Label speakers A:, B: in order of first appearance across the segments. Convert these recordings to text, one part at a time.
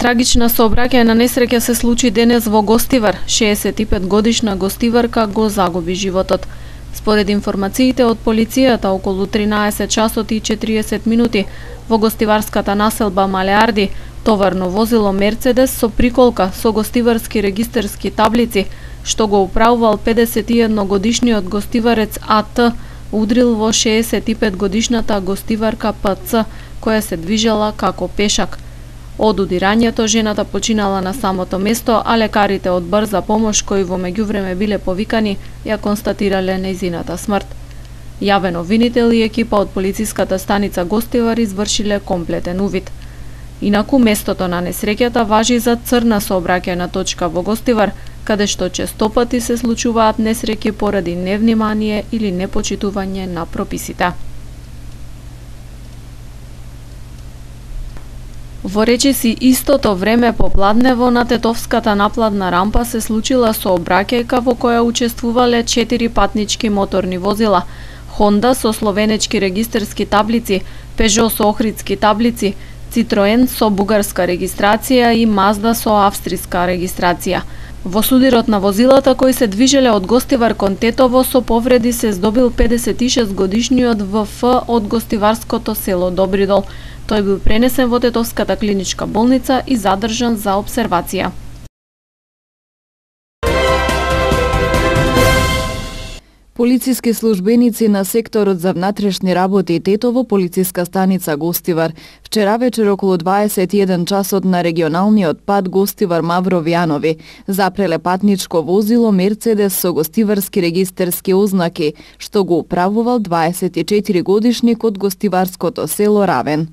A: Трагична сообраќајна несреќа се случи денес во Гостивар. 65 годишна гостиварка го загуби животот. Според информациите од полицијата, околу 13 часот и 40 минути во гостиварската населба Малеарди, товарно возило Мерцедес со приколка со гостиварски регистерски таблици, што го управувал 51 годишниот гостиварец АТ, удрил во 65 годишната гостиварка ПЦ, која се движела како пешак. Од удирањето жената починала на самото место, а лекарите од брза помош, кои во меѓувреме биле повикани, ја констатирале нејзината смрт. Јавен обвинител и екипа од полициската станица Гостивар извршиле комплетен увид. Инаку местото на несреќата важи за црна сообраќајна точка во Гостивар, каде што честопати се случуваат несреќи поради невнимание или непочитување на прописите. Во речиси истото време попладнево на Тетовската напладна рампа се случила сообраќајка во која учествувале 4 патнички моторни возила: Honda со словенечки регистерски таблици, Peugeot со охридски таблици, Citroen со бугарска регистрација и Mazda со австриска регистрација. Во судирот на возилата кои се движеле од Гостивар кон Тетово со повреди се здобил 56 годишниот ВФ од гостиварското село Добридол. Тој бил пренесен во Тетовската клиничка болница и задржан за обсервација.
B: Полициски службеници на секторот за внатрешни работи Тетово, полициска станица Гостивар, вчера вечер околу 21 часот на регионалниот пат Гостивар-Мавровјанови запреле патничко возило Мерцедес со гостиварски регистерски ознаки, што го управувал 24 годишник од гостиварското село Равен.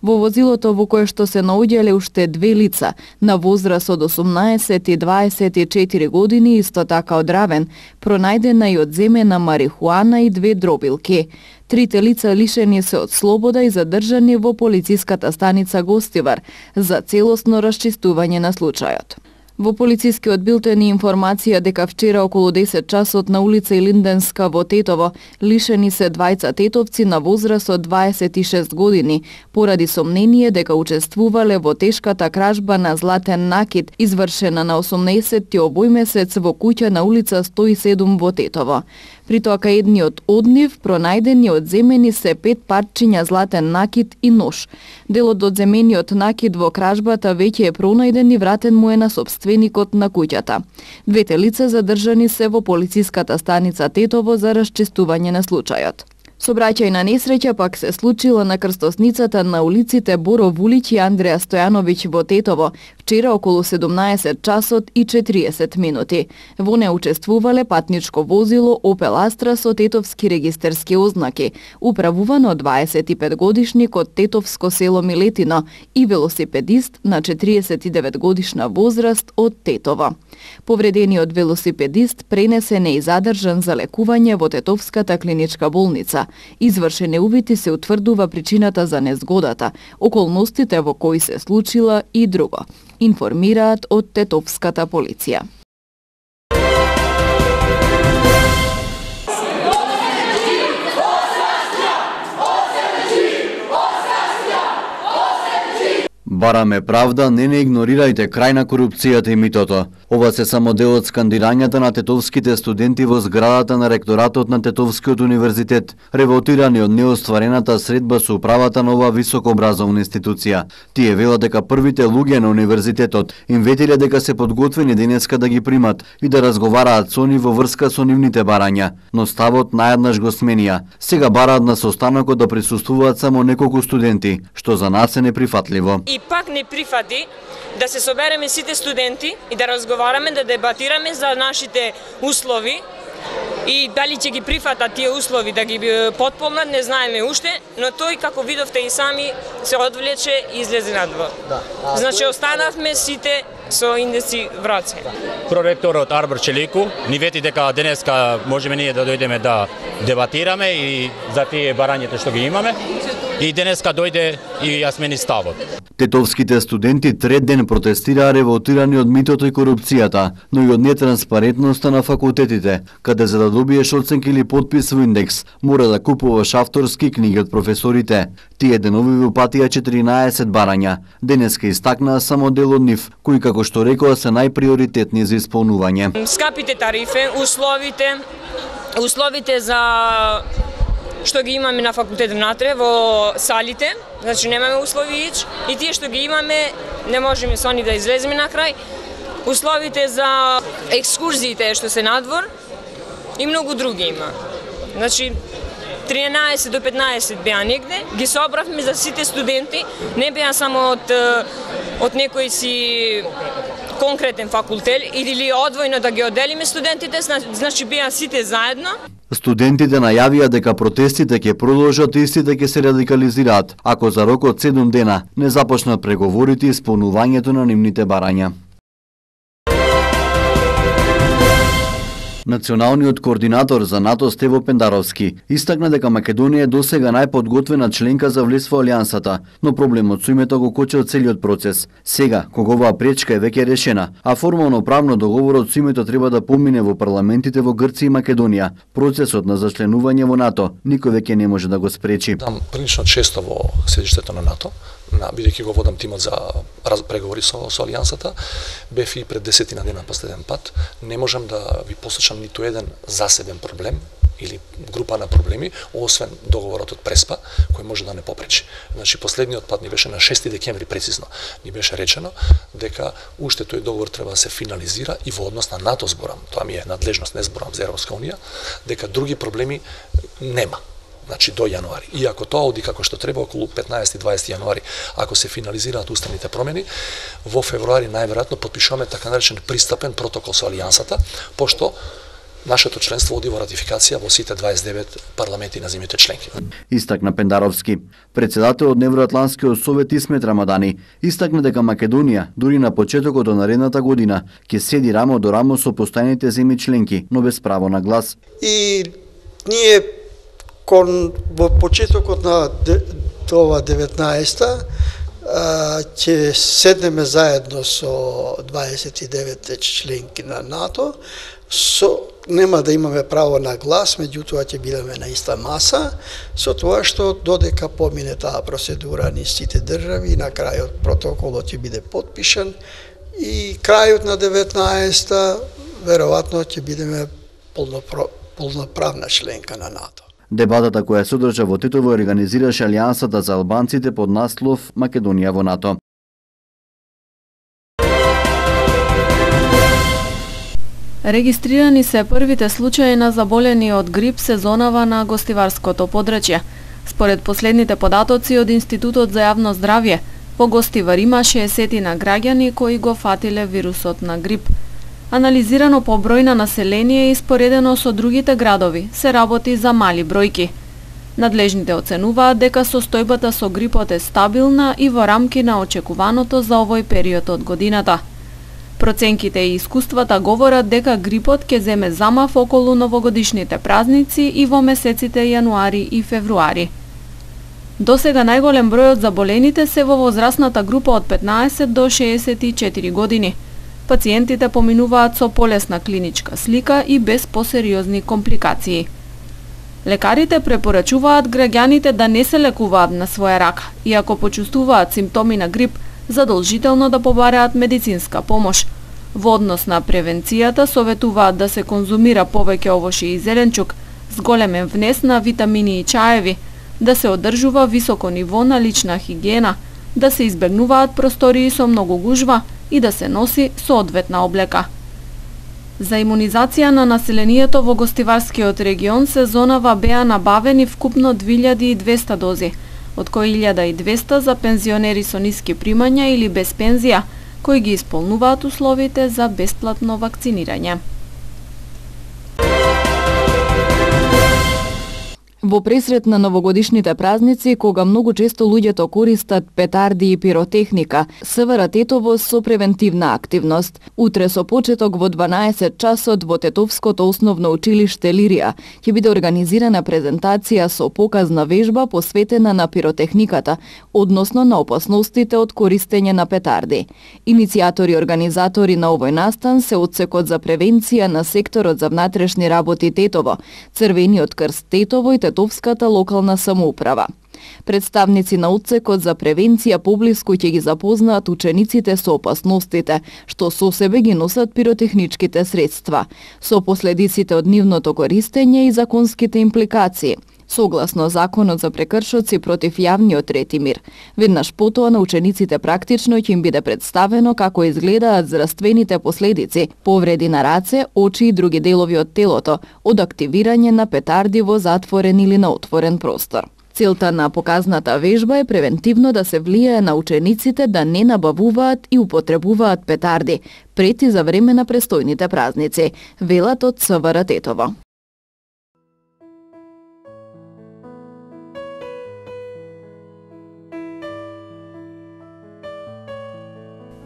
B: Во возилото во кое што се наоѓале уште две лица на возраст од 18 и 24 години, исто така од Равен, пронајдена и одземена марихуана и 2 дробилки. Трите лица лишени се од слобода и задржани во полициската станица Гостивар за целосно расчистување на случајот. Во полицискиот билтен и информација дека вчера околу 10 часот на улица Илинденска во Тетово лишени се двајца тетовци на возраст од 26 години поради сомнение дека учествувале во тешката кражба на златен накид извршена на 18 овој месец во куќа на улица 107 во Тетово. При тоа кај едниот од нив пронајдени одземени се 5 парчиња златен накид и нож. Делот од земениот накид во кражбата веќе е пронајден и вратен му е на собственикот на куќата. Двете лица задржани се во полициската станица Тетово за расчистување на случајот. Сообраќајна несреќа пак се случила на крстосницата на улиците Боро Вулиќ и Андреја Стојановиќ во Тетово, вчера околу 17 часот и 40 минути. Во неа учествувале патничко возило Opel Astra со тетовски регистерски ознаки, управувано од 25 годишник од тетовско село Милетино и велосипедист на 49 годишна возраст од Тетово. Повредениот велосипедист пренесен и задржан за лекување во Тетовската клиничка болница. Извршени увити се утврдува причината за незгодата, околностите во кои се случила и друго, информираат од Тетовската полиција.
C: Бараме правда, не игнорирајте крај на корупцијата и митото. Ова се само дел од скандирањата на тетовските студенти во зградата на ректоратот на Тетовскиот универзитет, револтирани од неостварената средба со управата на оваа високообразовна институција. Тие велат дека првите луѓе на универзитетот им ветиле дека се подготвени денеска да ги примат и да разговараат со нив во врска со нивните барања, но ставот најаднаш го сменија. Сега бараат на состанокот да присуствуваат само неколку студенти, што за нас е неприфатливо.
D: И пак не прифати да се собереме сите студенти и да разговараме, да дебатираме за нашите услови и дали ќе ги прифатат тие услови да ги потпомнат, не знаеме уште, но тој, како видовте и сами, се одвлече и излезе надвор. Значи, останавме сите со индеси в раце.
E: Проректорот Арбор Челику ни вети дека денеска можеме ние да дојдеме да дебатираме и за тие барањата што ги имаме. и денеска дојде и ја смени ставот.
C: Тетовските студенти трет ден протестираа револтирани од митото и корупцијата, но и од нетранспарентноста на факултетите, каде за да добиеш оценка или подпис во индекс, мора да купуваш авторски книги од професорите. Тие денови ви упатија 14 барања. Денеска истакнаа само дел од нив, кои како што рекоа се најприоритетни за исполнување.
D: Скапите тарифи, условите за што ги имаме на факултет внатре во салите, значи немаме услови и тие што ги имаме не можеме со они да излеземе на крај. Условите за екскурзиите што се надвор и многу други има. Значи 13 до 15 беа негде, ги собравме за сите студенти, не беа само од некој си конкретен факултет или одвојно да ги оделиме студентите, значи беа сите заедно.
C: Студентите најавија дека протестите ќе продолжат и истите ќе се радикализираат, ако за рок од 7 дена не започнат преговорите и исполнувањето на нивните барања. Националниот координатор за НАТО Стево Пендаровски истакна дека Македонија е досега најподготвена членка за влез во Алијансата, но проблемот со името го кочил целиот процес. Сега, кога оваа пречка е веќе решена, а формално правно договорот со името треба да помине во парламентите во Грција и Македонија, процесот на зачленување во НАТО никој веќе не може да го спречи.
F: Дам прилично често во седиштето на НАТО, бидејќи го водам тимот за преговори со Алијансата, бев и пред 10 дена последен пат, не можам да ви посочам ниту еден засебен проблем или група на проблеми, освен договорот од Преспа, кој може да не попречи. Значи, последниот пат ни беше на 6 декември прецизно, ни беше речено дека уште тој договор треба да се финализира и во однос на НАТО зборам, тоа ми е надлежност, не зборам за Европска унија, дека други проблеми нема. Значи до јануари. И ако тоа оди како што треба, околу 15-20 јануари, ако се финализираат уставните промени, во февруари најверојатно потпишуваме така наречен пристапен протокол со Алијансата, пошто нашето членство оди во ратификација во сите 29 парламенти на земјите членки.
C: Истакна Пендаровски. Председател од Невроатлантскиот совет Исмет Рамадани истакна дека Македонија дури на почетокот од наредната година ќе седи рамо до рамо со постојаните земји членки, но без право на глас.
G: И ние во почетокот на ова 19-та ќе седнеме заедно со 29 членки на НАТО, нема да имаме право на глас, меѓутоа ќе бидеме на иста маса, со тоа што додека помине таа процедура низ сите држави, на крајот протоколот ќе биде потпишан и крајот на 19-та веројатно ќе бидеме полноправна членка на НАТО.
C: Дебатата која се одржа во Тетово организираше Алијансата за албанците под наслов Македонија во НАТО.
A: Регистрирани се првите случаи на заболени од грип сезонава на гостиварското подрачје. Според последните податоци од Институтот за јавно здравје, во Гостивар има 60 на граѓани кои го фатиле вирусот на грип. Анализирано по број на население и споредено со другите градови, се работи за мали бројки. Надлежните оценуваат дека состојбата со грипот е стабилна и во рамки на очекуваното за овој период од годината. Проценките и искуствата говорат дека грипот ќе земе замав околу новогодишните празници и во месеците јануари и февруари. Досега најголем број од заболените се во возрастната група од 15 до 64 години. Пациентите поминуваат со полесна клиничка слика и без посериозни компликации. Лекарите препорачуваат граѓаните да не се лекуваат на своја рака и ако почувствуваат симптоми на грип, задолжително да побараат медицинска помош. Во однос на превенцијата советуваат да се конзумира повеќе овошје и зеленчук с големен внес на витамини и чаеви, да се одржува високо ниво на лична хигиена, да се избегнуваат простории со многу гужва и да се носи соодветна облека. За имунизација на населението во Гостиварскиот регион сезонава беа набавени вкупно 2200 дози, од кои 1200 за пензионери со ниски примања или без пензија, кои ги исполнуваат условите за бесплатно вакцинирање.
B: Во пресрет на новогодишните празници, кога многу често луѓето користат петарди и пиротехника, СВР Тетово со превентивна активност. Утре со почеток во 12 часот во Тетовското основно училиште Лирија ќе биде организирана презентација со показна вежба посветена на пиротехниката, односно на опасностите од користење на петарди. Иницијатори и организатори на овој настан се Одсекот за превенција на секторот за внатрешни работи Тетово, Црвениот крст Тетово и Тетовската локална самоуправа. Представници на Одсекот за превенција поблиску ќе ги запознаат учениците со опасностите, што со себе ги носат пиротехничките средства, со последиците од нивното користење и законските импликации, согласно Законот за прекршоци против јавниот ред и мир. Веднаш потоа на учениците практично ќе им биде представено како изгледаат здравствените последици, повреди на раце, очи и други делови од телото, од активирање на петарди во затворен или на отворен простор. Целта на показната вежба е превентивно да се влијае на учениците да не набавуваат и употребуваат петарди пред и за време на престојните празници, велат од СВР Тетово.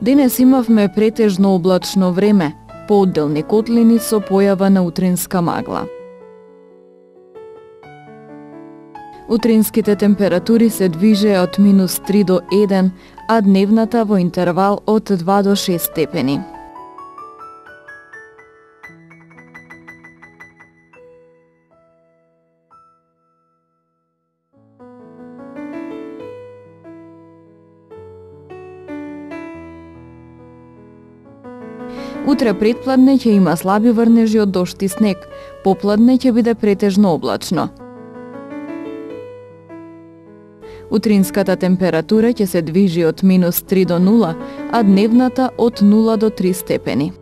B: Денес имавме претежно облачно време, поодделни котлини со појава на утринска магла. Утринските температури се движеа од -3 до 1, а дневната во интервал од 2 до 6 степени. Утре предпладне ќе има слаби врнежи од дожд и снег, попладне ќе биде претежно облачно. Утринската температура ќе се движи од -3 до 0, а дневната од 0 до 3 степени.